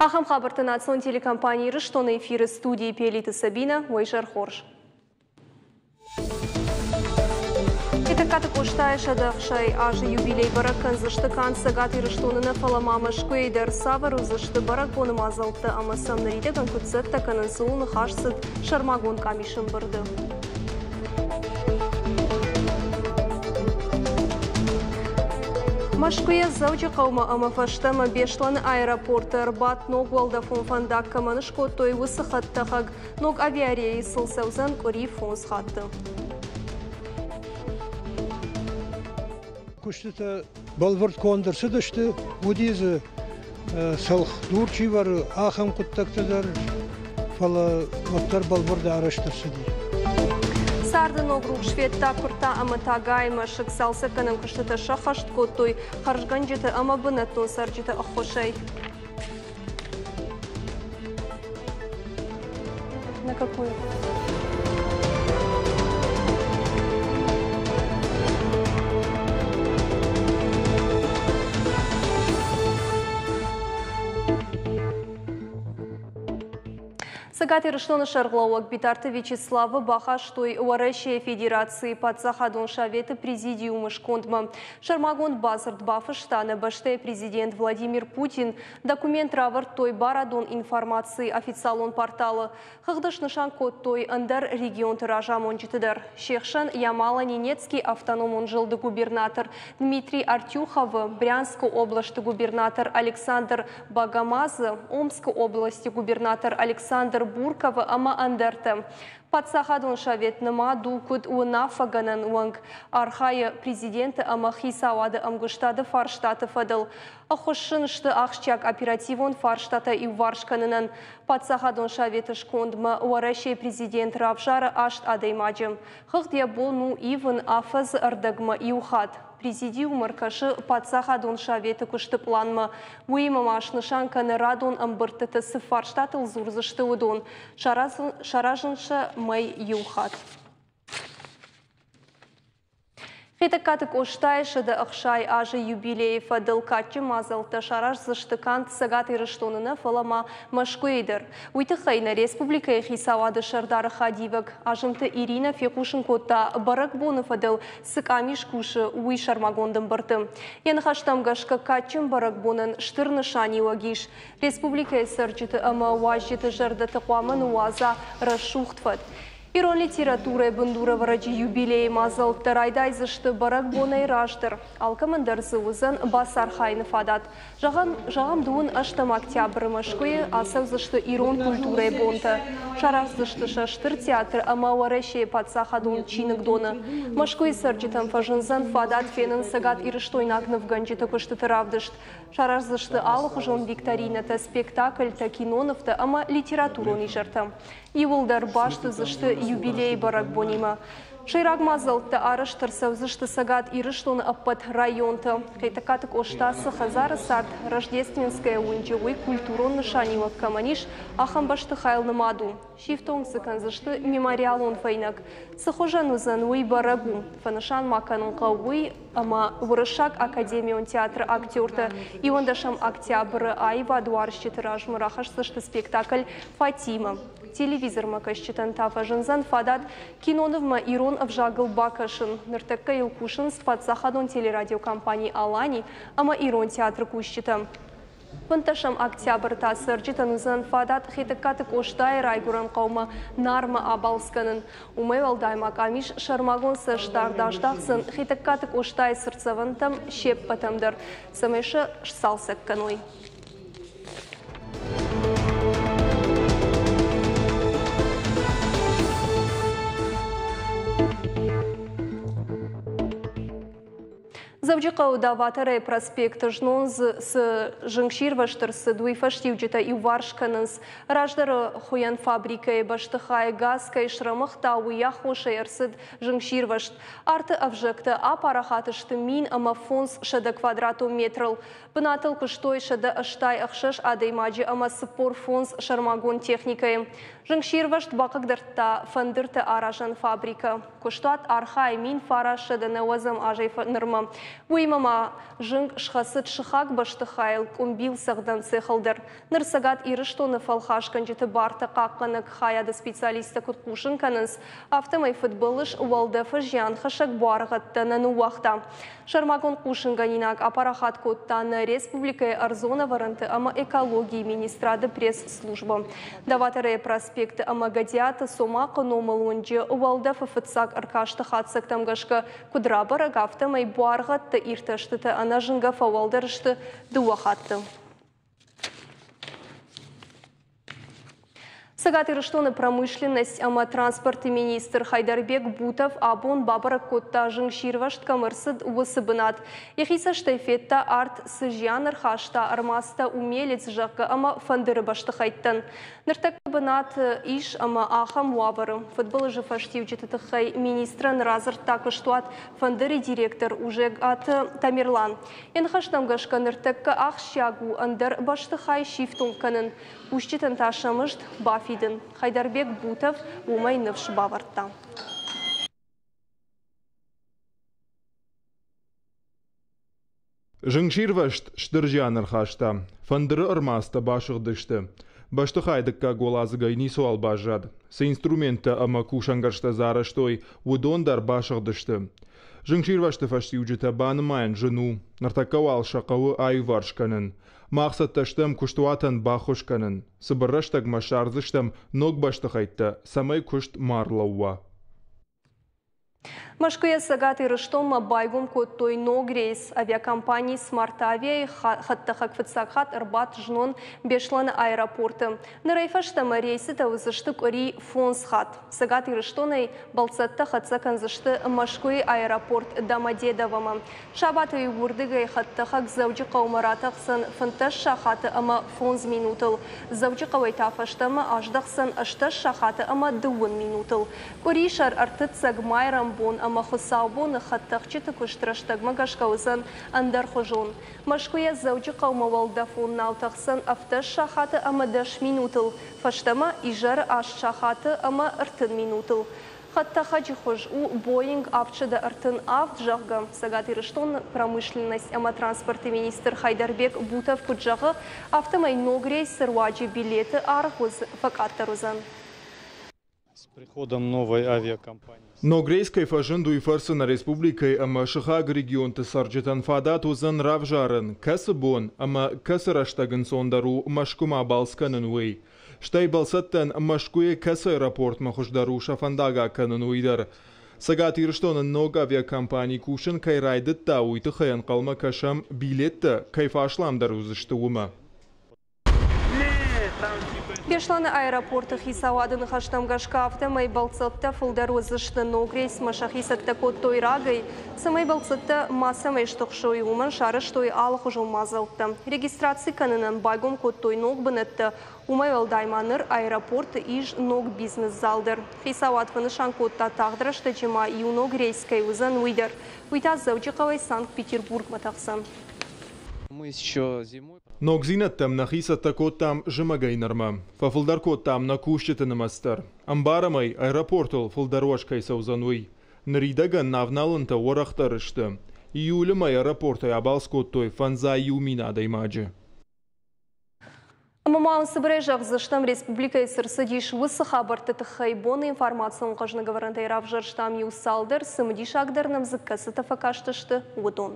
Ахӕм хабӕрттӕ национ телекомпани Ирыстоны эфиры студийы Пелиты Сабинӕ. Уӕ изӕр хорз. Хетӕгкаты Къостайы 160 азы юбилей бӕрӕг кӕндзысты канд Цӕгат Ирыстоны нӕ, фӕлӕ ма Мӕскуыйы дӕр. Цавӕр уыдзысты бӕрӕгбоны мадзӕлттӕ ӕмӕ сӕм ныридӕгӕн куыд цӕттӕ кӕнынц, ууыл ныхас цыд сӕрмагонд къамисы ӕмбырды. Мӕскуыйӕ Дзӕуджыхъӕумӕ ӕмӕ фӕстӕмӕ Беслӕны аэропорты ӕрбадт ног уӕлдӕфон фӕндаг кӕмӕн скодтой, уыцы хӕдтӕхӕг. Ног авиарейсыл цӕудзӕн къуыри фондз хатты. Куыстытӕ бӕлвырд конд ӕрцыдысты, уыди дзы цӕлхдур чи вӕры, ахӕм хъуыддӕгтӕ дӕр, фӕлӕ уӕддӕр бӕлвырд арӕзт ӕрцыди. Царды ног рухс федта Куыртта ӕмӕ Тагайы мӕсыг цалцӕггӕнӕн куыстытӕ сӕххӕст кодтой хӕрзгӕнджыты ӕмӕ бынӕттон цӕрджыты ӕххуысӕй. На какую? Цӕгат Ирыстоны сӕргълӕууӕг Битарты Вячеславы бахастой Уӕрӕсейы Федерацийы Паддзахадон Советы Президиумы скондмӕ. Сӕрмагонд бадзырд бафыста нӕ бӕстӕйы президент Владимир Путин. Документ равӕрдтой барадон информацийы официалон порталы. Хыгъды снысан кодтой ӕндӕр регионты разамонджыты дӕр. Се хсӕн Ямало-Ненецкий автономон зылды губернатор Дмитрий Артюховы, Брянскы областы губернатор Александр Богомазы, Омскы областы губернатор Александр Бурковы ӕмӕ ӕндӕртӕ. Паддзахадон совет нымад у куыд уынаффӕгӕнӕн уӕнг, архайы президенты ӕмӕ хицауады ӕмгуыстады фарстаты фӕдыл. Ӕххуыс сын сты ахсджиаг оперативон фарстатӕ иуварс кӕнынӕн. Паддзахадон советы скондмӕ Уӕрӕсейы президент равзары аст адӕймаджы. Хыгъд йӕ бон у ивын афӕдзы ӕрдӕгмӕ иу хатт. Президиум ӕркӕсы Паддзахадон советы куысты пъланмӕ. Уыимӕ ма снысан кӕны радон ӕмбырдтыты цы фарстатыл дзурдзысты, уыдон. Саразын сӕ мӕй иу хатт. Хетӕгкаты Къостайы 160 азы юбилейы фӕдыл кадджын мадзӕлттӕ сараздзысты канд Цӕгат Ирыстоны нӕ, фӕлӕ ма Мӕскуыйы дӕр. Уый тыххӕй нӕ республикӕйы хицауады сӕрдары хӕдивӕг Азымты Иринӕ фехъусын кодта, бӕрӕгбоны фӕдыл цы къамис кусы, уый сӕрмагонд ӕмбырды. Йӕ ныхӕстӕм гӕсгӕ кадджын бӕрӕгбонӕн стыр нысаниуӕг ис. Республикӕйы цӕрджыты ӕмӕ уазджыты зӕрдӕты хъуамӕ ныууадза рӕсугъд фӕд. Ирон литературӕйы бындурӕвӕрӕджы юбилейы мадзӕлттӕ райдайдзысты бӕрӕгбонӕй раздӕр. Алкӕмӕн дӕр дзы уыдзӕн бацархайыны фадат. Зӕгъӕм, зӕгъӕм дыууын ӕстӕм октябры Мӕскуыйы ацӕудзысты ирон культурӕйы бонтӕ. Сараздзысты сӕ Стыр театры ӕмӕ Уӕрӕсейы паддзахадон чиныгдоны. Мӕскуыйы цӕрджытӕн фӕзындзӕн фадат фенын цӕгатирыстойнаг нывгӕнджыты куыстыты равдыст. Сараздзысты алыхуызон викторинӕтӕ, спектакльтӕ, кинонывтӕ ӕмӕ литературон изӕртӕ. Иууылдӕр баст уыдзысты юбилейы бӕрӕгбонимӕ. Сӕйраг мадзӕлттӕ арӕзт ӕрцӕудзысты Цӕгат Ирыстоны ӕппӕт районты. Хетӕгкаты Къоста цы хӕдзары цард Рождественская уынджы, уый культурон нысаниуӕг кӕмӕн ис, ахӕм бӕстыхайыл нымад у. Сифтонг дзы кӕндзысты мемориалон фӕйнӕг. Цы хуызӕн уыдзӕн, уый бӕрӕг у. Фӕнысан ма кӕнын хъӕуы уый, ӕмӕ Уырыссаг академион театры актертӕ иуӕндӕсӕм октябры аивадуарзджыты размӕ рахӕсдзысты спектакль «Фатима». Телевизормӕ кӕсджытӕн та фӕзындзӕн фадат кинонывмӕ ирон ӕвзагыл бакӕсын. Ныртӕккӕ йыл кусынц паддзахадон телерадиокомпани «Алани» ӕмӕ Ирон театры кусджытӕ. Фынддӕсӕм октябры та цӕрджытӕн уыдзӕн фадат Хетӕгкаты Къостайы райгуырӕн хъӕумӕ Нармӕ абалц кӕнын. Уымӕй уӕлдай ма къамис сӕрмагонд цӕстдард аздахдзӕн Хетӕгкаты Къостайы цыртдзӕвӕнтӕм се ппӕтӕм дӕр, цӕмӕй сӕ сцалцӕг кӕной. Дзӕуджыхъӕуы Даваторӕйы проспекты знон дзы цы зынгсирвӕзт ӕрцыд, уый фӕстиуджытӕ иуварс кӕнынц. Раздӕры хуыйӕн фабрикӕйы бӕстыхайы газ кӕй срӕмыгъта, уый аххосӕй ӕрцыд зынгсирвӕзт. Арты ӕвзӕгтӕ апарахат сты 1500 квадратон метрыл. Бынатыл куыстой 186 адӕймаджы ӕмӕ 45 сӕрмагонд техникӕйы. Зынгсирвӕзт бахъыгдардта фӕндырты аразӕн фабрикӕ. Куыстуат архайы 1990 азӕй нырмӕ. Уыимӕ ма зынг схӕцыд сыхаг бӕстыхайыл, къуымбил цӕгъдӕн цехыл дӕр. Ныр Цӕгат Ирыстоны фӕлхасгӕнджыты барты хъахъхъӕнӕг хайады специалисттӕ куыд хъусын кӕнынц, афтӕмӕй фыдбылыз уӕлдӕфы зианхӕссӕг буаргъӕдтӕ нӕ ныууагъта. Сӕрмагонд хъусынгӕнинаг апарахат кодта нӕ республикӕйы ӕрдзон ӕвӕрӕнты ӕмӕ экологийы министрады пресс-службӕ. Доваторӕйы проспекты ӕмӕ Гӕдиаты Цомахъы номыл уынджы уӕлдӕфы фыццаг ӕркасты хатдзӕгтӕм гӕсгӕ куыд рабӕрӕг, афтӕмӕй буаргъӕдты иртӕстытӕ ӕнӕзынгӕ фӕуӕлдӕр сты дыууӕ хатты. Цӕгат Ирыстоны промышленность ӕмӕ транспорты министр Хайдарбек Бутов абон бабӕрӕг кодта, зынгсирвӕзт кӕм ӕрцыд, уыцы бынат. Йӕхи цӕстӕй федта, арт цы зиан ӕрхаста ӕрмадзтӕ Умелец, зӕгъгӕ, ӕмӕ фӕндыры бӕстыхӕйттӕн. Ныртӕккӕ бынат ис ӕмӕ ахӕм уавӕры. Фыдбылызы фӕстиуджыты тыххӕй министрӕн радзырдта куыстуат Фӕндыр-ы директор Ужегаты Тамерлан. Йӕ ныхӕстӕм гӕсгӕ ныртӕккӕ ахсджиаг у ӕндӕр бӕстыхай сифтонг кӕнын, кусджытӕн та сӕ мызд бафидын. Хайдарбек Бутов уымӕй ныфс бавӕрдта. Зынгсирвӕзт стыр зиан ӕрхаста. Фӕндыры ӕрмадзтӕ басыгъдысты. Бӕстыхайы дыккаг уӕладзыгӕй ницыуал баззад. Цы инструменттӕ ӕмӕ кусӕнгӕрзтӕ дзы арӕзтой, уыдон дӕр басыгъдысты. Зынгсирвӕзты фӕстиуджытӕ банымайын зын у. Ныртӕккӕ уал сӕ хъӕуы аиуварс кӕнын. Мах цӕттӕ стӕм куыстуатӕн баххуыс кӕнын. Цыбыр рӕстӕгмӕ ссардзыстӕм ног бӕстыхӕйттӕ, цӕмӕй куыст ма рлӕууа. Мӕскуыйӕ Цӕгат Ирыстонмӕ байгом кодтой ног рейс. Авиакомпани «Смартавиа»-йы хӕдтӕхӕг фыццаг хатт ӕрбадт знон Беслӕны аэропорты. Нырӕй фӕстӕмӕ рейсытӕ уыдзысты къуыри фондз хатт. Цӕгат Ирыстонӕй бӕлццӕттӕ хӕццӕ кӕндзысты Мӕскуыйы аэропорт Домодедовомӕ. Сабаты уырдыгӕй хӕдтӕхӕг Дзӕуджыхъӕумӕ ратӕхдзӕн 15 сахаты ӕмӕ фондз минутыл. Дзӕуджыхъӕуӕй та фӕстӕмӕ аздӕхдзӕн 18 сахаты ӕмӕ дыууын минутыл. Къуырисӕр, ӕртыццӕг, майрӕмбон ӕмӕ хуыцаубоны хӕдтӕхджыты куыст рӕстӕгмӕ гӕсгӕ уыдзӕн ӕндӕрхуызон. Мӕскуыйӕ Дзӕуджыхъӕумӕ уӕлдӕфон нау тӕхдзӕн 17 сахаты ӕмӕ дӕс минутыл, фӕстӕмӕ изӕры аст сахаты ӕмӕ 30 минутыл. Хӕдтӕхӕджы хуыз у Боинг 737, зӕгъгӕ, Цӕгат Ирыстоны промышленность ӕмӕ транспорты министр Хайдарбек Бутов куыд зӕгъы, афтӕмӕй ног рейсы руаджы билеты аргъ фӕкъаддӕр уыдзӕн. Ног рейс кӕй фӕзынд, уый фӕрцы нӕ республикӕйы ӕмӕ сыхаг регионты цӕрджытӕн фадат уыдзӕн равзарын, кӕцы бон ӕмӕ кӕцы рӕстӕг ӕнцондӕр у Мӕскуымӕ балц кӕнын, уый. Стӕй бӕлцӕттӕн Мӕскуыйы кӕцы аэропортмӕ хуыздӕр у сӕ фӕндаг акӕнын, уый дӕр. Цӕгат Ирыстоны ног авиакомпани кусын кӕй райдыдта, уый тыххӕй ӕнхъӕлмӕ кӕсӕм, билеттӕ кӕй фӕасламдӕр уыдзысты, уымӕ. Беслӕны аэропорты хицауады ныхӕстӕм гӕсгӕ, афтӕмӕй бӕлццӕттӕ фылдӕр уыдзысты. Ног рейсмӕ сӕхи цӕттӕ кодтой рагӕй. Цӕмӕй бӕлццӕттӕ мацӕмӕй стыхсой, уымӕн сарӕзтой алыхуызон мадзӕлттӕ. Регистраци кӕнынӕн байгом кодтой ног бынӕттӕ. Уымӕй уӕлдай ма ныр аэропорты ис ног бизнес-зал дӕр. Хицауад фӕнысан кодта, тагъд рӕстӕджы ма иу ног рейс кӕй уыдзӕн, уый дӕр. Уый та Дзӕуджыхъӕуӕй Санкт-Петербургмӕ тӕхдзӕн. Ногдзинӕдтӕм нӕхи цӕттӕ кодтам зымӕгӕй нырмӕ. Фӕфылдӕр кодтам нӕ кусджыты нымӕц дӕр. Ӕмбарӕм ӕй, аэропортыл фылдӕр уӕз кӕй цӕудзӕн, уый. Ныридӕгӕн нӕ авналӕнтӕ уӕрӕхдӕр сты. Июлы мӕй аэропортӕй абалц кодтой 51 000 адӕймаджы. Ӕмӕ ма цыбырӕй зӕгъдзыстӕм, республикӕйы цы рцыдис, уыцы хабӕртты тыххӕй. Боны информацион хъӕзныгӕвӕрӕнтӕй равзӕрстам иу цалдӕр, цымыдисагдӕр нӕм дзы кӕцытӕ фӕкастысты, уыдон.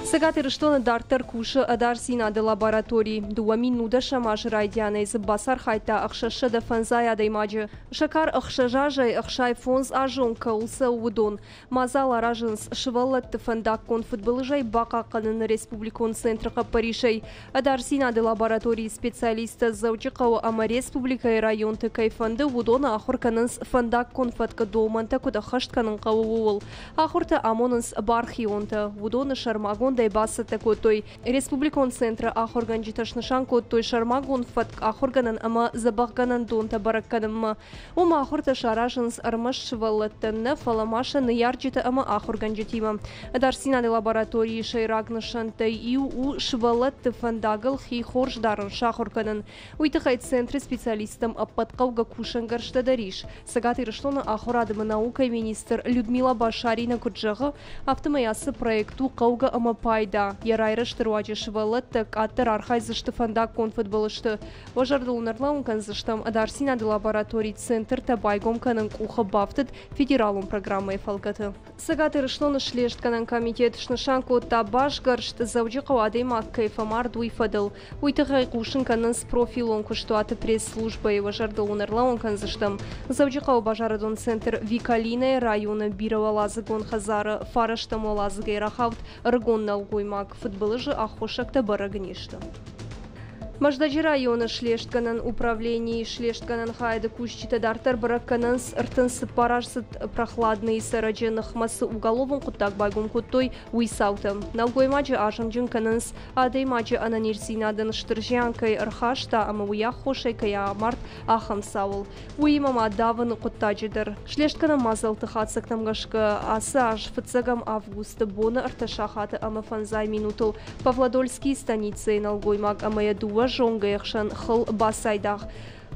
Цӕгат Ирыстоны дарддӕр кусы ӕдасдзинады лаборатори. 2019 азы райдианӕй дзы бацархайдта 650 адӕймаджы. Сӕ кар 6 азӕй 65 азы онг кӕуыл цӕуы, уыдон. Мадзал аразынц сывӕллӕтты фӕндаггон фыдбылызӕй бахъахъхъӕныны республикон центры хъӕппӕрисӕй. Ӕдасдзинады лабораторийы специалисттӕ Дзӕуджыхъӕуы ӕмӕ республикӕйы районты кӕй фӕнды, уыдоны ахуыр кӕнынц фӕндаггон фӕткы домӕнтӕ куыд ӕххӕст кӕнын хъӕуы, ууыл. Ахуыртӕ амонынц бархионтӕ. Уыдоны сӕрмагонд Сӕрмагондӕй бацӕттӕ кодтой. Республикон центры ахуыргӕнджытӕ снысан кодтой сӕрмагонд фӕтк ахуыргӕнӕн ӕмӕ дзӕбӕхгӕнӕндонтӕ бӕрӕг кӕнынмӕ. Уым ахуыртӕ саразынц ӕрмӕст сывӕллӕттӕн нӕ, фӕлӕ ма сӕ ныййарджытӕ ӕмӕ ахуыргӕнджытимӕ. Ӕдасдзинады лабораторийы сӕйраг нысӕнттӕй иу у сывӕллӕтты фӕндагыл хи хорз дарын сахуыр кӕнын. Уый тыххӕй центры специалисттӕм ӕппӕт хъӕугӕ кусӕнгӕрзтӕ дӕр ис. Цӕгат Ирыстоны ахуырады ӕмӕ наукӕйы министр Людмила Башарина куыд зӕгъы, афтӕмӕй ацы проект у хъӕугӕ ӕмӕ пайда. Йӕ райрӕзты руаджы сывӕллӕттӕ къаддӕр архайдзысты фӕндаггон фыдбылызты. Уӕ зӕрдыл ын ӕрлӕууын кӕндзыстӕм, ӕдасдзинады лабораторийы центртӕ байгом кӕнын къухы бафтыд федералон программӕйы фӕлгӕты. Цӕгат Ирыстоны слестгӕнӕн комитет снысан кодта басгӕрст, Дзӕуджыхъӕуы адӕймаг кӕй фӕмард, уый фӕдыл. Уый тыххӕй хъусын кӕнынц профилон куыстуаты пресс-службӕйы. Уӕ зӕрдыл уын ӕрлӕууын кӕндзыстӕм, Дзӕуджыхъӕуы базарадон центр Викалинӕйы районы бирӕуӕладзыгон хӕдзары фарӕстӕм уӕладзыгӕй рахауд ӕрыгон нӕлгоймаг. Фыдбылызы аххосӕгтӕ бӕрӕг не сты. Мӕздӕджы районы слестгӕнӕн управленийы слестгӕнӕн хайады кусджытӕ дарддӕр бӕрӕг кӕнынц 34-аздзыд Прохладныйы цӕрӕджы ныхмӕ цы уголовон хъуыддаг байгом кодтой, уый цаутӕ. Нӕлгоймаджы азымджын кӕнынц, адӕймаджы ӕнӕниздзинадӕн стыр зиан кӕй ӕрхаста ӕмӕ уый аххосӕй кӕй амард, ахӕм цауыл. Уыимӕ ма давыны хъуыддаджы дӕр. Слестгӕнӕн мадзӕлтты хатдзӕгтӕм гӕсгӕ ацы аз фыццӕгӕм августы боны ӕртӕ сахаты ӕмӕ фӕндзай минутыл Павлодольскийы станицӕйы нӕлгоймаг ӕмӕ йӕ дыууӕ зонгӕйы хсӕн хыл бацайдагъ.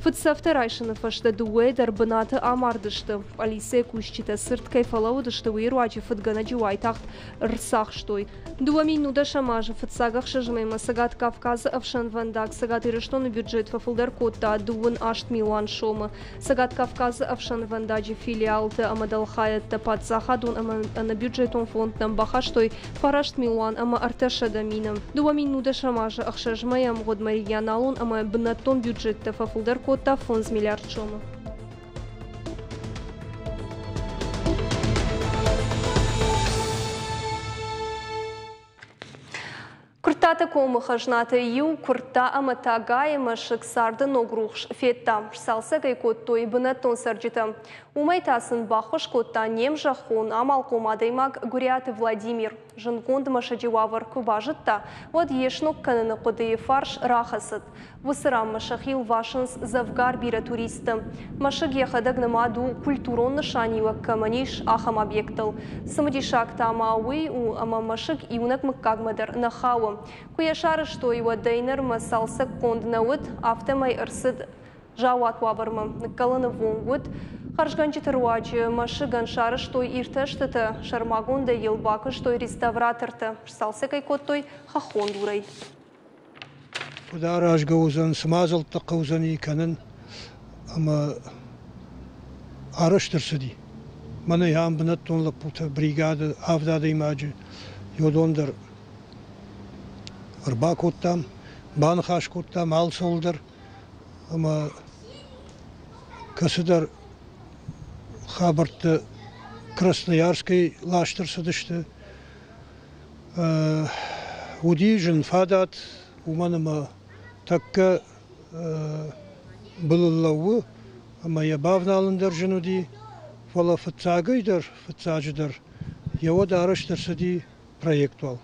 Фыдцӕфтӕ райсыны фӕстӕ дыууӕйы дӕр бынаты амардысты. Пъӕлицӕйы кусджытӕ цырд кӕй фӕлӕууыдысты, уый руаджы фыдгӕнӕджы уайтагъд ӕрцахстой. 2019 азы фыццаг ӕхсӕз мӕймӕ Цӕгат Кавказы ӕфсӕнвӕндаг Цӕгат Ирыстоны бюджет фӕфылдӕр кодта дыууын аст милуан сомы. Цӕгат Кавказы ӕфсӕнвӕндаджы филиалтӕ ӕмӕ дӕлхайӕдтӕ паддзахадон ӕмӕ ӕнӕбюджетон фондтӕм бахастой фараст милуан ӕмӕ 300 000. 2019 азы ӕхсӕз мӕйы ӕмгъуыдмӕ регионалон ӕмӕ бынӕттон бюджеттӕ фӕфылдӕр кодта 5 миллиард сомы. Куырттаты комы хӕзнатӕй иу Куыртта ӕмӕ Тӕгайы мӕсыг царды ног рухс федта. Сцалцӕг ӕй кодтой бынӕттон цӕрджытӕ. Уымӕй та сын баххуыс кодта не мзӕххон амалхъом адӕймаг Гуыриаты Владимир. Зындгонд мӕсыджы уавӕр куы базыдта, уӕд йе сног кӕныны хъуыдыйы фарс рахӕцыд. Уыцы ранмӕ сӕхи лвасынц дзӕвгар бирӕ туристты. Мӕсыг йӕхӕдӕг нымад у, культурон нысаниуӕг кӕмӕн ис, ахӕм объектыл. Цымыдисаг та ма уый у, ӕмӕ мӕсыг иунӕг мыггагмӕ дӕр нӕ хауы. Куы йӕ сарӕзтой, уӕдӕй нырмӕ цалцӕггонд нӕ уыд, афтӕмӕй ӕрцыд заууат уавӕрмӕ. Ныккӕлыны ввонг уыд. Хӕрзгӕнджыты руаджы мӕсыгӕн сарӕзтой иртӕстытӕ, сӕрмагондӕй йыл бакуыстой реставратортӕ, сцалцӕг ӕй кодтой хӕххон дурӕй. Куыд аразгӕ уыдзӕн, цы мадзӕлттӕ хъӕудзӕни кӕнын, ӕмӕ арӕзт ӕрцыди. Мӕнӕ ам бынӕттон лӕппутӕ бригады авд адӕймаджы, уыдон дӕр ӕрбакодтам, баныхас кодтам алцӕуыл дӕр ӕмӕ кӕцыдӕр хабӕрттӕ Красноярскӕй ласт ӕрцыдысты. Уыди зын фадат, уымӕн ӕмӕ тӕккӕ былыл лӕууы ӕмӕ йӕ бавналын дӕр зын уыди, фӕлӕ фыццагӕй дӕр, фыццаджыдӕр йӕ уӕд арӕзт ӕрцыди проект уал.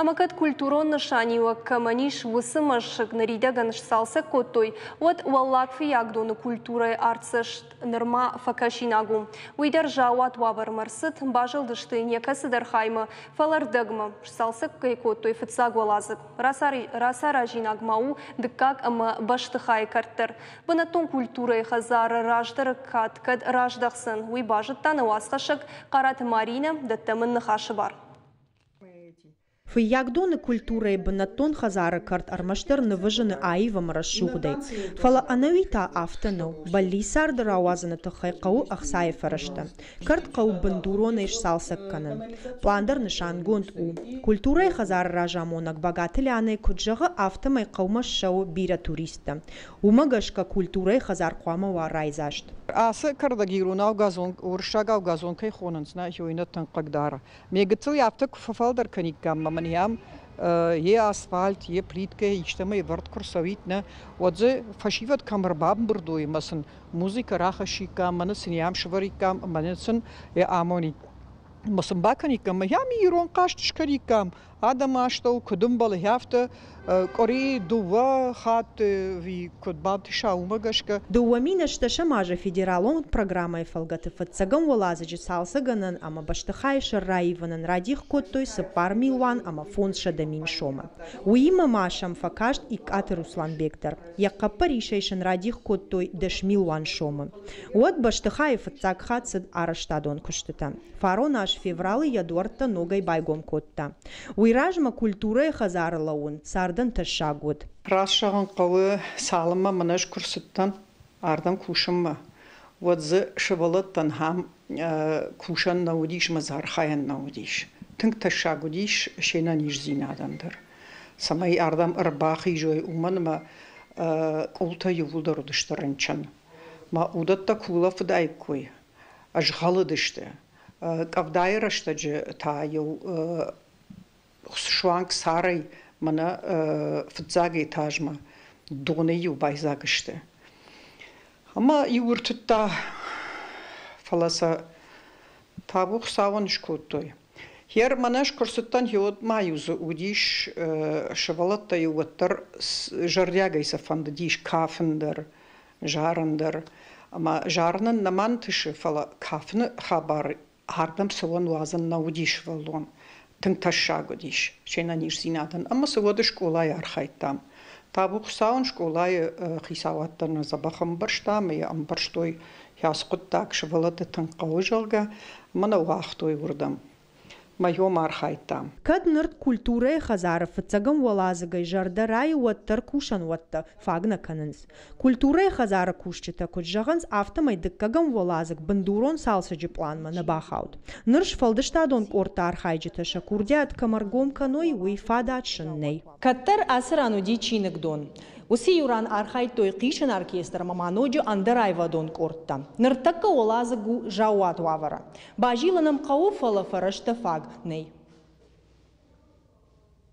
Ӕмӕ кӕд культурон нысаниуӕг кӕмӕн ис, уыцы мӕсыг ныридӕгӕн сцалцӕг кодтой, уӕд Уӕллаг Фыййагдоны культурӕйы артдзӕст нырма фӕкӕсинаг у. Уый дӕр заууат уавӕрмӕ рцыд, базылдысты йын йӕ кӕцыдӕр хаймӕ, фӕлӕ рдӕгмӕ. Сцалцӕг кӕй кодтой фыццаг уӕладзыг. Рацаразинаг ма у дыккаг ӕмӕ бӕстыхайы кӕрт дӕр. Бынӕттон культурӕйы хӕдзары раздӕры кад кӕд раздӕхдзӕн, уый базыдта нӕ уацхӕссӕг Хъараты Маринӕ, дӕттӕм ын ныхасы бар. Фыййагдоны культурӕйы бынӕттон хӕдзары кӕрт ӕрмӕстдӕр нывы зыны аив ӕмӕ рӕсугъдӕй. Фӕлӕ ӕнӕуи та афтӕ нӕу. Бӕллиц царды рауадзыны тыххӕй хъӕуы ӕхцайы фӕрӕзтӕ. Кӕрт хъӕуы бындуронӕй сцалцӕг кӕнын. Пълан дӕр нысангонд у. Культурӕйы хӕдзары разамонӕг Багаты Лианӕ куыд зӕгъы, афтӕмӕй хъӕумӕ ссӕуы бирӕ туристтӕ. Уымӕ гӕсгӕ культурӕйы хӕдзар хъуамӕ уа райдзаст. Ацы кӕрдӕг иронау газон, уырыссагау газон кӕй хонынц, нӕ хионӕ тынг хъыгдары. Ме гыццыл афтӕ куы фӕфалдӕр кӕниккам ӕмӕ мын йӕм йе асфальт, йе плиткӕ истӕмӕй ӕвӕрд куы рцӕуид, нӕ, уӕд дзы фӕсивӕд кӕм ӕрбамбырд уой ӕмӕ сын музыкӕ рахӕссиккам, мӕнӕ сын йӕм сӕвӕриккам ӕмӕ сын йӕ амонид. Ма сын бакӕниккам, ӕм ирон хъазт скӕниккам, адӕмы астӕу куыд ӕмбӕлы, афтӕ къуыри дыууӕ хатты куыд бантыса, уымӕ гӕсгӕ. 2008 азы федералон программӕйы фӕлгӕты фыццӕгӕм уӕладзыджы цалцӕггӕнӕн ӕмӕ бӕстыхайы сӕр раивынӕн радих кодтой 4 500 000 сомы. Уыимӕ ма сӕм фӕкаст Икъаты Русланбег дӕр. Йӕ хъӕппӕрисӕй сын радих кодтой 10 000 000 сомы. Уӕд бӕстыхайы фыццаг хатт цыд арӕзтадон куыстытӕ. Фарон аз февралы йӕ дуӕрттӕ ногӕй байгом кодта. Уый размӕ культурӕйы хӕдзары лӕууын цардӕн тӕссаг уыд. Раст зӕгъын хъӕуы, цалынмӕ мын ӕз куы рцыдтӕн ардӕм кусынмӕ, уӕд дзы сывӕллӕттӕн ахӕм кусӕн нӕ уыдис ӕмӕ дзы архайӕн нӕ уыдис. Тынг тӕссаг уыдис се нӕниздзинадӕн дӕр. Цӕмӕй ардӕм ӕрбахизой, уымӕн ӕмӕ къултӕ иууылдӕр уыдысты рынчын. Мӕ уыдӕттӕ куы улӕфыдаиккой, ӕзгъӕлыдысты. Къӕвдайы рӕстӕджы та-иу суанг царӕй мӕнӕ фыццаг этажмӕ донӕй-иу байдзаг сты. Ӕмӕ иу ӕртыдта, фӕлӕ сӕ табу Хуыцауӕн скодтой. Гъер мӕнӕ ӕз куы рцыдтӕн, гъеуӕд ма-иу дзы уыдис сывӕллӕттӕ-иу уӕддӕр зӕрдиагӕй сӕ фӕндыдис кафын дӕр, зарын дӕр. Ӕмӕ зарынӕн нӕма нтысы, фӕлӕ кафыны хабар ардӕм цӕуӕн уадзӕн нӕ уыдис сывӕллон. Тынг тӕссаг уыдис се нӕниздзинадӕн. Ӕмӕ цы уӕд скъолайы архайдтам. Табу Хуыцауӕн, скъолайы хицауад дӕр нӕ дзӕбӕх ӕмбӕрста ӕмӕ йӕ ӕмбӕрстой, ацы хъуыддаг сывӕллӕтты тынг хъӕуы, зӕгъгӕ, ӕмӕ нӕ уагътой уырдӕм. Мӕ йом архайдтам. Кӕд ныр культурӕйы хӕдзары фыццӕгӕм уӕладзыгӕй зӕрдӕ райы, уӕддӕр кусӕнуӕттӕ фаг нӕ кӕнынц. Культурӕйы хӕдзары кусджытӕ куыд зӕгъынц, афтӕмӕй дыккӕгӕм уӕладзыг бындурон цалцӕджы пъланмӕ нӕ бахауд. Ныр сфӕлдыстадон къордты архайджытӕ сӕ курдиат кӕм ӕргом кӕной, уый фадат сын нӕй. Кӕддӕр ацы ран уыди чиныгдон. Уыцы иу ран архайдтой хъисын оркестр ӕмӕ ма ноджы ӕндӕр аивадон къордтӕ. Ныртӕккӕ уӕладзыг у заууат уавӕры. Базилын ӕм хъӕуы, фӕлӕ фӕрӕзтӕ фаг нӕй.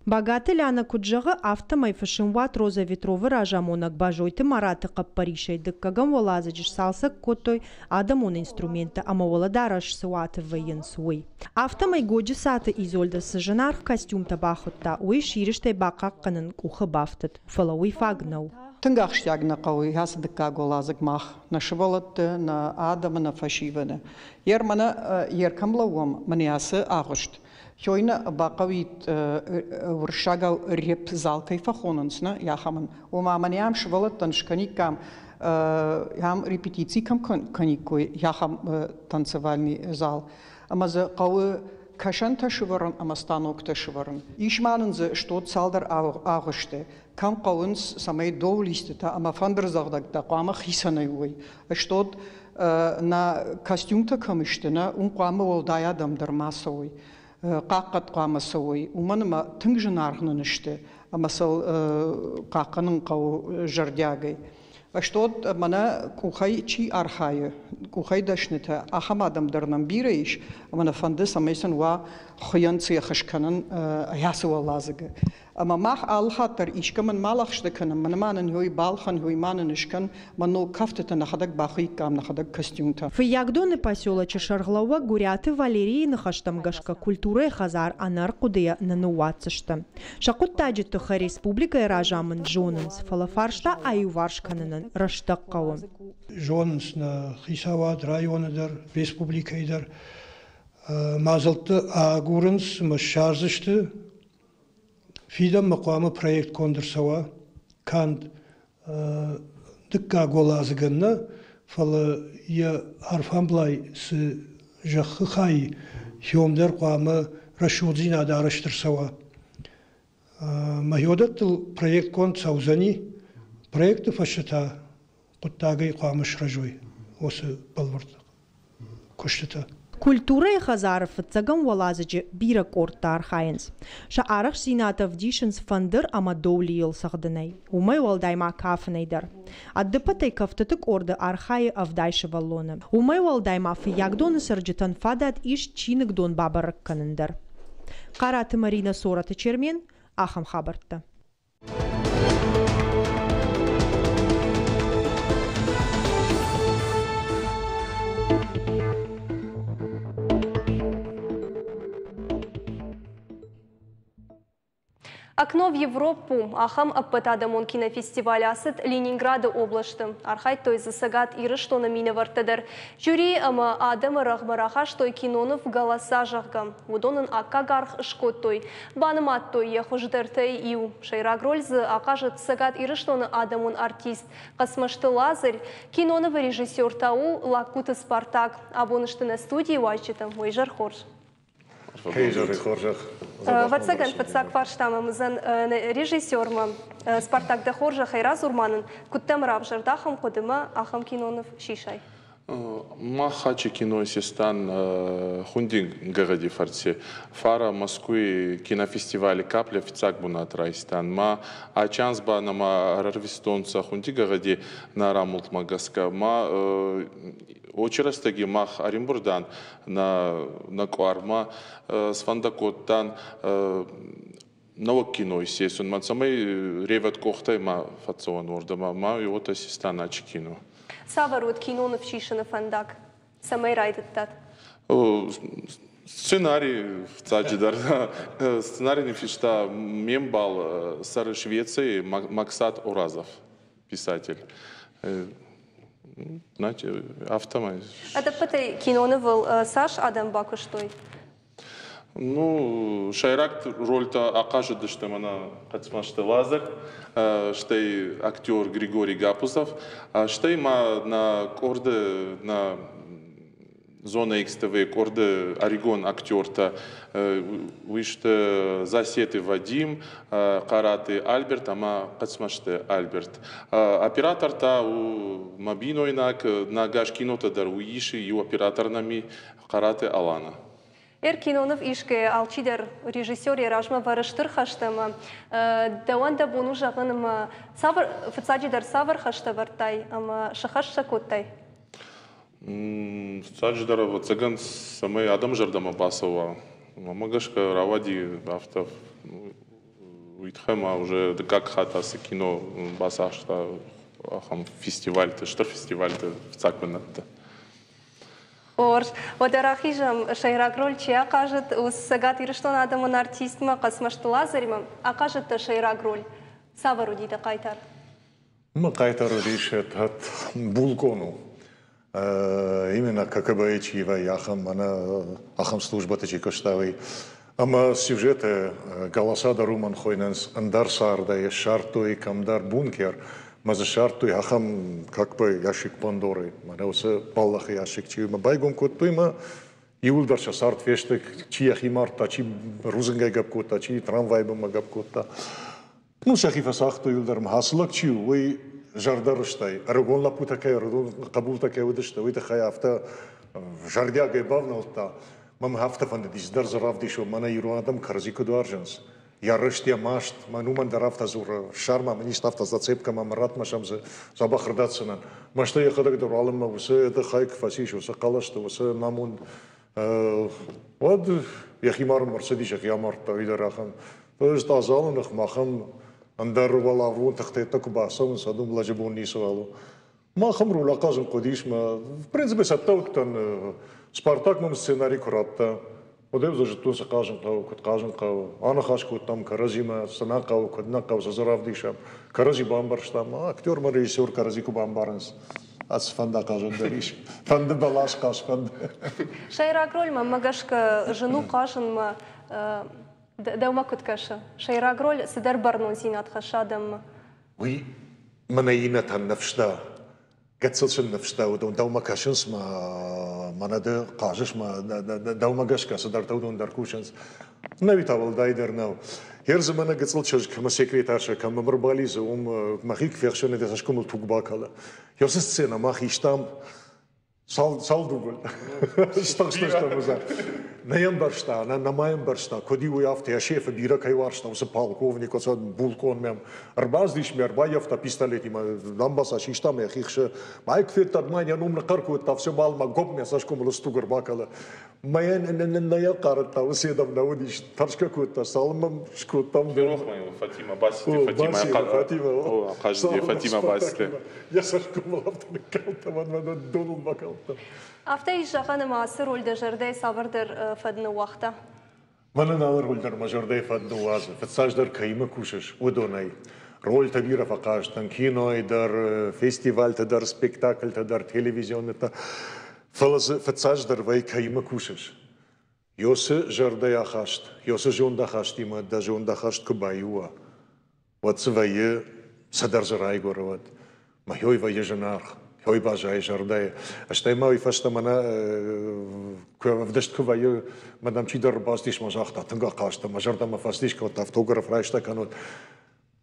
Багаты Ляна куыд зӕгъы, афтӕмӕй фысымуат Роза Ветровы разамонӕг Бӕзойты Мараты хъӕппӕрисӕй дыккӕгӕм уӕладзыджы сцалцӕг кодтой адӕмон инструменттӕ ӕмӕ уӕлӕдарӕс цы уаты вӕййынц, уый. Афтӕмӕй Годжысаты Изольдӕ цы зынаргъ костюмтӕ бахуыдта, уый сирыстӕй бахъахъхъӕнын къухы бафтыд, фӕлӕ уый фаг нӕу. Тынг ахсджиаг нӕ хъӕуы ацы дыккаг уӕладзыг мах, нӕ сывӕллӕтты, нӕ адӕмы, нӕ фӕсивӕды. Ер мӕнӕ ер кӕм лӕууӕм, мӕнӕ ацы агъуыст. Хёйна бахъӕуид уырыссагау реп-зал кӕй фӕхонынц, нӕ, ахӕмӕн. Ома мӕнӕ ам сывӕллӕттӕн скӕниккам, ам репетици кӕм кӕниккой, ахӕм танцевальный зал. Ӕмӕ дзы хъӕуы кӕсӕнтӕ сывӕрын ӕмӕ станоктӕ сывӕрын. Ис ма нын дзы стод цалдӕр агъуысты, кӕм хъӕуынц, цӕмӕй доулистытӕ ӕмӕ фӕндырдзӕгъдӕгтӕ хъуамӕ хицӕнӕй уой. Стод нӕ костюмтӕ кӕм сты, нӕ, уым хъуамӕ уӕлдай адӕм дӕр ма цӕуой. Хъахъхъӕд хъуамӕ цӕуой, уымӕн ӕмӕ тынг зынаргъ нын сты ӕмӕ сыл хъахъхъӕнын хъӕуы зӕрдиагӕй. Стод мӕнӕ къухӕй чи архайы, къухӕй дӕснытӕ, ахӕм адӕм дӕр нӕм бирӕ ис, ӕмӕ нӕ фӕнды, цӕмӕй сын уа хуыйӕн цех скӕнын ацы уӕладзыгы. Ӕмӕ мах алы хатт дӕр искӕмӕн ма лӕгъстӕ кӕнӕм, мӕнӕ ма нын уый балхӕн, уый ма нын скӕн, мӕ ног кӕфтытӕ нӕхӕдӕг бахуыиккам, нӕхӕдӕг костюмтӕ. Фыййагдоны поселочы сӕргълӕууӕг Гуыриаты Валерийы ныхӕстӕм гӕсгӕ культурӕйы хӕдзар ӕнӕрхъуыдыйӕ нӕ ныууадздзысты. Сӕ хъуыддаджы тыххӕй республикӕйы разамынд зонынц, фӕлӕ фарста аиуварс кӕнынӕн рӕстӕг хъӕуы. Зонынц нӕ хицауад районы дӕр, республикӕйы дӕр. Мадзӕлттӕ агурынц ӕмӕ ссардзысты. Фидӕнмӕ хъуамӕ проект конд ӕрцӕуа канд дыккаг уӕладзыгӕн нӕ, фӕлӕ йӕ арфӕмблай цы зӕххы хай хиом дӕр хъуамӕ рӕсугъддзинад арӕзт ӕрцӕуа. Мӕхиодӕттыл проект конд цӕудзӕни, проекты фӕстӕ та хъуыддагӕй хъуамӕ сырӕзой уыцы бӕлвырд куыстытӕ. Культурӕйы хӕдзары фыццӕгӕм уӕладзыджы бирӕ къордтӕ архайынц. Сӕ арӕхстдзинад ӕвдисынц фӕндыр ӕмӕ доулийыл цӕгъдынӕй, уымӕй уӕлдай ма кафынӕй дӕр. Ӕдыппӕтӕй кӕфтыты къорды архайы 70 сывӕллоны. Уымӕй уӕлдай ма Фыййагдоны цӕрджытӕн фадат ис чиныгдон бабӕрӕг кӕнын дӕр. Хъараты Маринӕ, Цорӕты Чермен, ахӕм хабӕрттӕ. Окно в Европу ахӕм ӕппӕтадӕмон кинофестиваль ацыд Ленинграды областы. Архайдтой дзы Цӕгат Ирыстоны минӕвӕрттӕ дӕр. Жюрийы ӕмӕ адӕмы рӕгъмӕ рахастой киноныв «Голоса», зӕгъгӕ. Уыдон ын аккаг аргъ скодтой. Банымадтой йӕ хуыздӕртӕй иу. Сӕйраг роль дзы ахъазыд Цӕгат Ирыстоны адӕмон артист Хъӕцмӕзты Лазарь. Кинонывы режиссер та у Лагкуты Спартак. Абон сты нӕ студийы уазджытӕ. Уӕ изӕр хорз! Ӕвӕццӕгӕн, фыццаг фарстамӕ уыдзӕн режиссермӕ. Спартак, дӕ хорзӕхӕй, радзур ма нын, куыд дӕм равзӕрд ахӕм хъуыдымӕ, ахӕм киноныв сисай? Мах ачи кино систан хунди гӕгъӕди фӕрци. Фара Москвы кинофестивали «Капля» фиццаг бунат райстан. Ма ачи анз ба нӕмӕ ӕрӕрвистонцӕ хунди гӕгъӕди нӕ рамултмӕ гӕсгӕ. Ма очи рӕстӕги мах ӕримбурдан нӕ къуармӕ, сфӕндӕ кодтан нӕуӕг кино исесунмӕ, цӕмӕй ревӕд къохтӕй ма фӕццӕуӕн уордӕмӕ, ма уотӕ систан ачи кино. Цавӕр уыд киноныв сисыны фӕндаг? Цӕмӕй райдыдтат? Сценарий фыццаджыдӕр. Сценарий ныффыста ме мбал цӕры Швецийы Максат Оразов, писатель. Знаете, афтӕмӕй. Ӕдӕппӕтӕй кинонывыл цас адӕм бакуыстой? Ну, сӕйраг рольтӕ ахъазыдысты мӕнӕ Хъӕцмӕзты Лазарь, стӕй актер Григорий Гапузов, стӕй ма нӕ къорды, нӕ Зона XTV къорды ӕрыгон актертӕ, уый сты Засеты Вадим, Хъараты Альберт ӕмӕ Хъӕцмӕзты Альберт. Оператор та у мӕ бинойнаг, нӕ ӕгас кинотӕ дӕр уый исы, иу оператор нӕм и, Хъараты Алана. Ӕркинонов исгӕйӕ алчидӕр режиссер йӕ размӕ вӕры стыр хӕстӕ ӕмӕ дӕуӕн дӕ бон у зӕгъын ӕмӕ цавӕр, фыццаджыдӕр цавӕр хӕстӕ ӕвӕрдтай ӕмӕ сыхӕст сӕ кодтай? Фыццаджыдӕр, ӕвӕццӕгӕн, цӕмӕй адӕмы зӕрдӕмӕ бацӕуа, уымӕ гӕсгӕ рауади афтӕ. Уый тыххӕй ма уже дыккаг хатт ацы кино бацахста ахӕм фестивальты, стыр фестивальты фыццаг бынӕтты. Хорз. Уӕдӕ рахизӕм, сӕйраг роль чи ахъазыд, уыцы Цӕгат Ирыстоны адӕмон артистмӕ Хъӕцмӕзты Лазаримӕ. Ахъазыдтӕ сӕйраг роль. Цавӕр уыди дӕ хъайтар? Мӕ хъайтар уыдис этот булкъон у. Именно КГБ-йы чи вӕййы, ахӕм мӕнӕ ахӕм службӕты чи куыста, уый. Ӕмӕ сюжеты голоса дӕр уымӕн хойнынц ӕндӕр цардӕй, ссардтой кӕмдӕр бункер, мӕ дзы ссардтой ахӕм как бы ящик Пандоры, мӕнӕ уыцы бӕллӕхы ящик чи у, мӕ байгом кодтой мӕ иууылдӕр сӕ цард фесты, чи йӕхи мардта, чи рудзынгӕй гӕпп кодта, чи трамвайы бынмӕ гӕпп кодта. Ну, сӕхи фӕцагътой иуылдӕр ӕмӕ ацы лӕг чи у, уый зӕрдӕрыстӕй, ӕрыгон лӕппутӕ кӕй, ӕрыгон хъӕбултӕ кӕй уыдысты, уый тыххӕй афтӕ зӕрдиагӕй бавнӕлдта. Мӕм афтӕ фӕндыдис дӕр дзы равдисон, мӕнӕ ирон адӕм кӕрӕдзи куыд уарзынц. Йӕ рыст, йӕ маст, мӕн уымӕн дӕр афтӕ дзуры, ссар ма мын исты афтӕ зацепкӕ ма мӕ ратт, мӕ сӕм дзы дзӕбӕх ӕрдӕтдзынӕн. Мӕстӕй йӕхӕдӕг дӕр уалынмӕ уыцы ӕдыхӕй куы фӕцис, уыцы хъӕлӕсты, уыцы намонд, уӕд йӕхи марынмӕ ӕрцыдис, йӕхи амардта, уый дӕр ахӕм. Ӕз адзалы ныхмӕ ахӕм ӕндӕр уӕларвон тыхтӕ куы бацӕуынц, уӕд уым лӕджы бон ницыуал у. Махӕм роль ахъазын хъуыдис мӕ, в принципе, цӕттӕ уыдтӕн. Спартак мӕм сценари куы радта, уӕд ӕй зыдтон, цы хъазын хъӕуы, куыд хъазын хъӕуы. Аныхас кодтам кӕрӕдзимӕ, цы нӕ хъӕуы, куыд нӕ хъӕуы, цы дзы равдисӕм. Кӕрӕдзи бамбӕрстам. Актер ӕмӕ режиссер кӕрӕдзи куы бамбарынц, ацы фӕнд ахъазӕн дӕр ис. Фӕнды бӕлас хъаз, фӕнды. Сӕйраг роль мӕнмӕ гӕсгӕ зын у хъазынмӕ. Дӕумӕ куыд кӕсы? Сӕйраг роль цыдӕр бӕрнондзинад хӕссы адӕммӕ. Уый мӕнӕ иннӕтӕн ныфс дӕ. Гыццыл сын ныфс дӕ, уыдон дӕумӕ кӕсынц, мӕ мӕнӕ ды хъазыс, мӕ дӕумӕ гӕсгӕ цыдӕртӕ уыдон дӕр кусынц. Нӕуи та уӕлдайдӕр нӕу. Герзы мӕнӕ гыццыл чызг ӕмӕ секретаршӕ кӕм ӕрбалидзы, уым мӕхи куы фехсын, йӕ цӕсгомыл туг бакӕлы. Уыцы сценӕ мах истам Цал дубль? Стыхстыстӕм уыдзӕн. Нӕ йӕ ӕмбӕрста, нӕ, нӕма ӕмбӕрста, куыд-иу уый афтӕ йӕ шефы бирӕ кӕй уарзта, уыцы полковник, уыцы булкъон мӕм ӕрбацыдис, мӕ ӕрбаййӕфта пистолетимӕ, дамбаца систа мӕ йӕхи хсы. Майк федта, ма йӕ ном ныхъхъӕр кодта, все мал ма гоп мӕ цӕсгомыл стуг ӕрбакӕлы. Мӕ нӕ йӕ хъарыдта, уыцы едӕм нӕ уыдис, тӕрсгӕ кодта, цалынмӕ скодтам. Ферох ма йыл Фатима Басити, Фатима, Фатима, ахъазыди Фатима Басити. Йӕ цӕсгомыл афтӕ ныккалдта, мӕнмӕ доныл бакалдта. Афтӕ ис зӕгъӕн, ӕмӕ ацы роль дӕ зӕрдӕйы цавӕрдӕр фӕд ныууагъта? Мӕнӕн алы роль дӕр мӕ зӕрдӕйы фӕд ныууадзы. Фыццаджыдӕр кӕимӕ кусыс, уыдонӕй. Рольтӕ бирӕ фӕхъазтӕн кинойы дӕр, фестивальты дӕр, спектакльтӕ дӕр, телевизионныты. Фӕлӕ дзы фыццаджыдӕр вӕййы кӕимӕ кусыс. Ёсы зӕрдӕйы ахаст, ёсы зондахастимӕ дӕ зондахаст куы баиу уа, уӕд дзы вӕййы цыдӕр дзы райгуыры уӕд. Мӕ хёй вӕййы зынаргъ, хёй баззайы зӕрдӕйы. Стӕй ма уый фӕстӕ мӕнӕ куы ӕвдыст куы вӕййы, мӕ дӕм чидӕр ӕрбацыдис мӕ загъта, тынг ахъазт мӕ зӕрдӕмӕ фӕцыдис, кодта автограф райста кӕнут.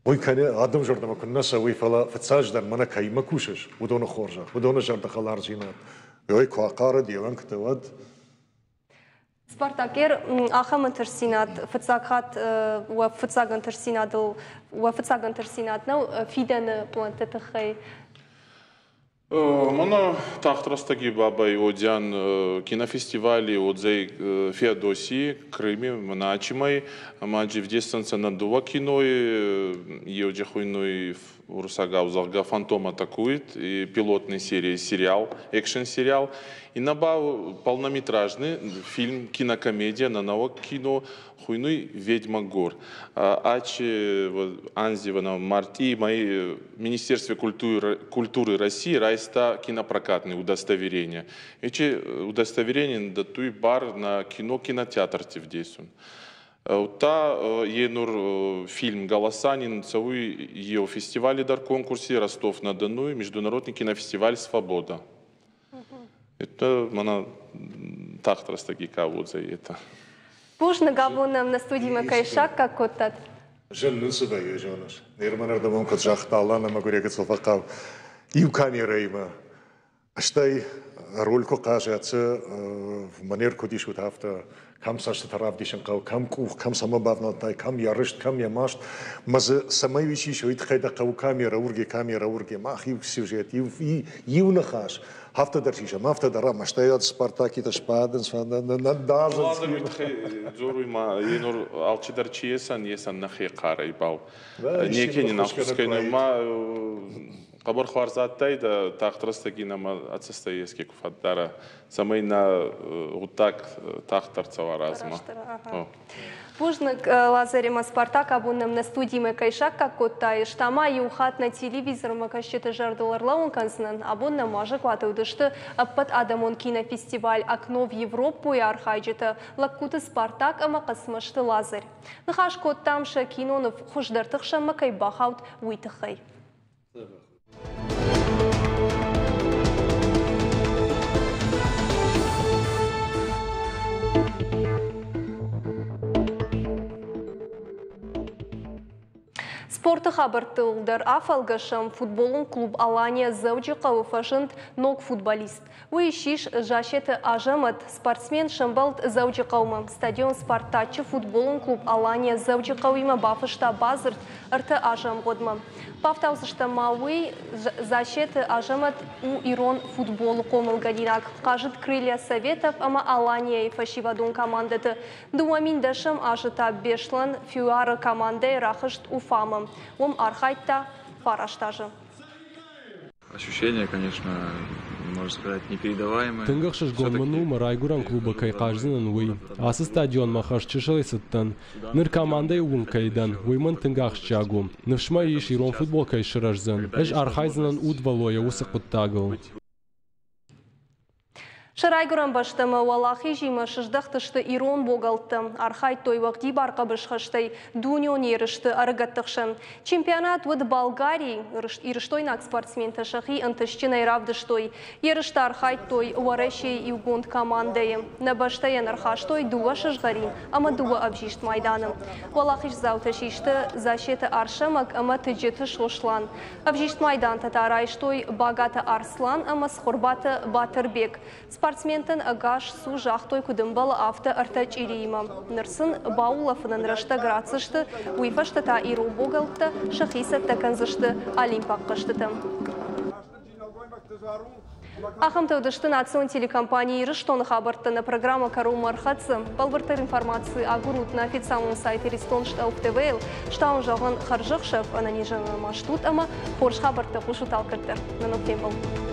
Уый кӕны адӕм зӕрдӕмӕ куыннӕ цӕуы, фӕлӕ фыццаджыдӕр мӕнӕ кӕимӕ кусыс, уыдоны хорзӕх, уыдоны зӕрдӕхӕлардзинад. Ой, куы ахъарыд йе уӕнгты, уӕд Спартакер ахӕм ӕнтыстдзинад фыццаг хатт уӕ фыццаг ӕнтыстдзинадыл уӕ фыццаг ӕнтыстдзинад нӕу фидӕны плӕнтты тыххӕй? Мӕнӕ тагъд рӕстӕги бабӕй уодзиан кинофестивали уодзӕй Феодосий, Крыми, мӕнӕ ӕма ӕвдесдзӕнцӕ нӕ дууӕ киной, еуде хуйнуй уруссагау, зӕгъгӕ, «Фантом атакует», и пилотной серии сериал, экшн-сериал. И на полнометражный фильм, кинокомедия на наук кино хуйнуй «Ведьма гор». Ачи анзи марти мои Министерстве культуры России райста кинопрокатные удостоверения. Эти удостоверения датуй бар на кино кинотеатр тивдесун. Та енур фильм «Голосанин» цауй ео фестивале дар конкурсе Ростов-на-Дону Международный кинофестиваль «Свобода». Это мана тагъд рӕстӕги ка уодзӕй это. Бузныг, абон нӕм нӕ студимӕ кӕй саккаг кодтат. Зын нын цы вӕййы, зоныс. Нерманӕрдӕмон куыд загъта Алан ӕмӕ гуырегыцыл фӕхъӕу иу камерӕимӕ. Стӕй роль куы хъазӕд, манер куыд ис, уыд афтӕ, кӕм цӕстытӕ равдисын хъӕуы, кӕм къух, кӕм цӕмӕ бавнӕлдтай, кӕм йӕ рыст, кӕм йӕ маст. Мӕ дзы цӕмӕй уый сисы, уый тыххӕй дӕ хъӕуы камерӕ, урге, камерӕ, урге. Мах иу сюжет, иу ныхас. Афтӕ дӕр сисӕм, афтӕ дӕр ӕмӕ стӕй ӕд Спартакитӕ сбадынц, нӕ дазынц. Уый тыххӕй дзоруй ма, енур алчидӕр чи есан, есан нӕхе хъарӕй бал. Неке нин ӕххус кӕнуй ма хъӕбӕр хуарз адтайдӕ тагъд рӕстӕги нӕмӕ ӕцӕстӕй еске ку фӕддара, цӕмӕй нӕ гъуддаг тагъддӕр цӕуа размӕ. Бузныг, Лазаримӕ Спартак абон нӕм нӕ студимӕ кӕй саккаг кодтай, ма иу хатт нӕ телевизормӕ кӕсджыты зӕрдыл ӕрлӕууын кӕндзынӕн. Абон нӕм уазӕгуаты уыдысты ӕппӕт адӕмон кинофестиваль «Окно в Европу»-йы архайджытӕ Лагкуты Спартак ӕмӕ Хъӕцмӕзты Лазарь. Ныхас кодтам сӕ киноныв хуыздӕрты хсӕнмӕ кӕй бахауд, уый тыххӕй. Спорты хабӕрттыл дӕр афӕлгӕсӕм. Футболон клуб «Алания» Дзӕуджыхъӕуы фӕзынд ног футболист. Уый ссис Засеты Азӕмӕт. Спортсмен сӕмбӕлд Дзӕуджыхъӕумӕ. Стадион «Спартачы» футболон клуб «Алания» Дзӕуджыхъӕуимӕ бафыста бадзырд 3 азы ӕмгъуыдмӕ. Бафтаудзыстӕм ма уый, Засеты Азӕмӕт у ирон футболы хъомылгӕнинаг. Хъазыд «Крылья Советов» ӕмӕ «Алания»-йы фӕсивӕдон командӕты. 2010 азы та Беслан ФЮАР-ы командӕйы рахызт Уфамӕ. Уым архайдта 9 азы. Ощущение, конечно, можно сказать, непередаваемое. Тынг ӕхсызгон мын у, мӕ райгуырӕн клубы кӕй хъаздзынӕн, уый. Ацы стадионмӕ хӕрзчысылӕй цыдтӕн. Ныр командӕйы уынг кӕй дӕн, уый мын тынг ахсджиаг у. Ныфс мӕ ис, ирон футбол кӕй сырӕздзӕн. Ӕз архайдзынӕн удвӕллойӕ уыцы хъуыддагыл. Сӕ райгуырӕн бӕстӕмӕ уӕлахизимӕ сыздӕхтысты ирон богӕлттӕ. Архайдтой уӕгъдибар хъӕбысхӕстӕй дунеон ерысты ӕрыгӕтты хсӕн. Чемпионат уыд Болгарийы. Ирыстойнаг спортсментӕ сӕхи ӕнтыстджынӕй равдыстой. Ерысты архайдтой Уӕрӕсейы иугонд командӕйы. Нӕ бӕстӕйӕн ӕрхастой 2 сызгъӕрин ӕмӕ 2 ӕвзист майданы. Уӕлахиздзаутӕ систы Засеты Арсӕмӕг ӕмӕ Тыджыты Сослан. Ӕвзист майдантӕ та райстой Багаты Арслан ӕмӕ Цхуырбаты Батырбег. Спортсментӕн ӕгас цу загътой, куыд ӕмбӕлы, афтӕ 3 чъириимӕ. Ныр сын баулӕфынӕн рӕстӕг ратдзысты, уый фӕстӕ та ирон богӕлттӕ сӕхи цӕттӕ кӕндзысты олимпаг хъӕзтытӕм. Ахӕмтӕ уыдысты национ телекомпани Ирыстоны хабӕрттӕ. Нӕ программӕ кӕронмӕ ӕрхӕццӕ. Бӕлвырддӕр информаци агурут нӕ официалон сайт Иристон Штелф ТВ-йыл. Стауын зӕгъын хӕрзӕхсӕв, ӕнӕнизӕн ма стут ӕмӕ хорз хабӕрттӕ хъусут алкӕддӕр. Нӕ ног фембӕлд.